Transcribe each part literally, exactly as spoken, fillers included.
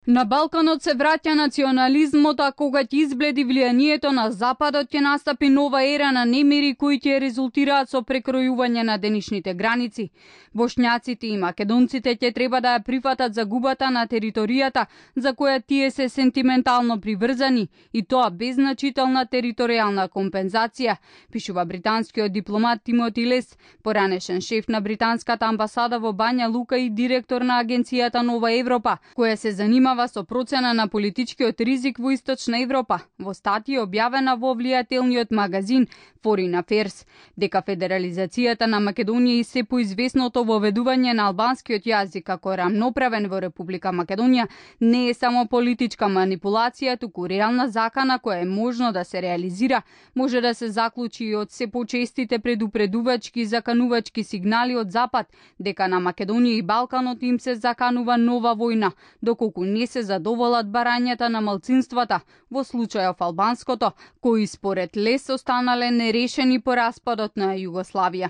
На Балканот се враќа национализмот, а кога ќе избледи влијанието на Западот, ќе настапи нова ера на немири кои ќе резултираат со прекројување на денешните граници. Бошњаците и македонците ќе треба да ја прифатат загубата на територијата за која тие се сентиментално приврзани, и тоа без значителна територијална компензација, пишува британскиот дипломат Тимоти Лес, поранешен шеф на британската амбасада во Бања Лука и директор на агенцијата Нова Европа, која се занимава со процена на политичкиот ризик во Источна Европа, во статија објавена во влијателниот магазин Foreign Affairs, дека федерализацијата на Македонија и се поизвестното воведување на албанскиот јазик како рамноправен во Република Македонија не е само политичка манипулација, туку реална закана која е можно да се реализира, може да се заклучи и од се почестите предупредувачки и заканувачки сигнали од Запад дека на Македонија и Балканот им се заканува нова војна, доколку не се задоволат барањата на малцинствата, во случајов албанското, кои според Лес останале нерешени по распадот на Југославија.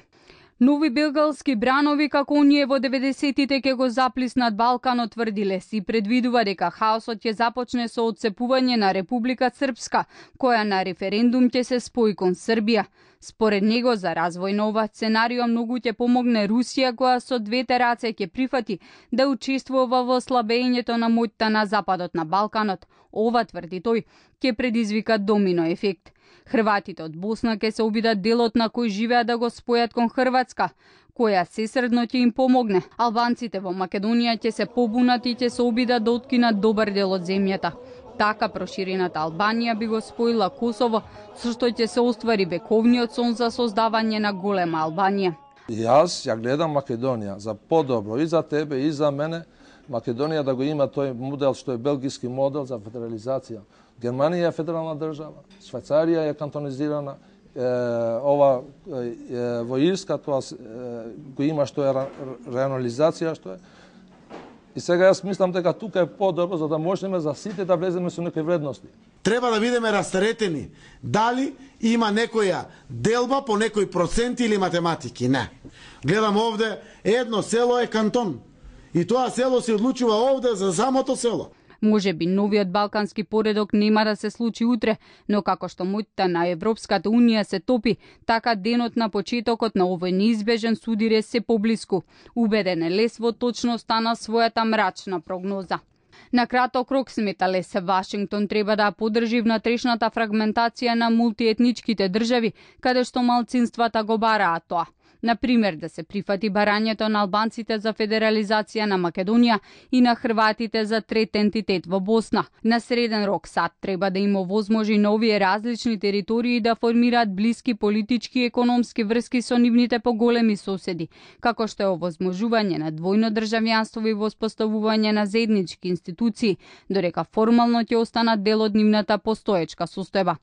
Нови белгалски бранови како оние во деветдесетите ќе го заплиснат Балканот, тврди Лес, и предвидува дека хаосот ќе започне со отцепување на Република Српска, која на референдум ќе се спои кон Србија. Според него, за развој на ова сценарио многу ќе помогне Русија, која со двете раце ќе прифати да учествува во слабењето на моќта на Западот на Балканот. Ова, тврди тој, ќе предизвика домино ефект. Хрватите од Босна ќе се обидат делот на кој живеат да го спојат кон Хрватска, која сесредно ќе им помогне. Албанците во Македонија ќе се побунат и ќе се обидат да откинат добар дел од земјата. Така проширената Албанија би го споила Косово, со што ќе се оствари вековниот сон за создавање на голема Албанија. Јас ја гледам Македонија за подобро и за тебе и за мене. Македонија да го има тој модел што е белгиски модел за федерализација. Германија е федерална држава, Швајцарија е кантонизирана, е, ова е, во Ирска тоа е, го има што е реанализација што е. И сега јас мислам дека тука е подобро за да можеме за сите да влеземе со некои вредности. Треба да бидеме растаретени. Дали има некоја делба по некој процент или математики? Не. Гледам овде, едно село е кантон. И тоа село се одлучува овде за самото село. Може би новиот балкански поредок нема да се случи утре, но како што моќта на Европската Унија се топи, така денот на почетокот на овој неизбежен судир е се поблиску. Убеден е Лес во точноста на својата мрачна прогноза. На краток рок, смета Лес, Вашингтон треба да поддржи внатрешната фрагментација на мултиетничките држави, каде што малцинствата го бараат тоа. Например, да се прифати барањето на албанците за федерализација на Македонија и на хрватите за трет ентитет во Босна. На среден рок САД треба да им овозможи на овие различни територии да формираат блиски политички и економски врски со нивните поголеми соседи, како што е овозможување на двојно државјанство и воспоставување на заеднички институции, додека формално ќе останат дел од нивната постоечка состојба.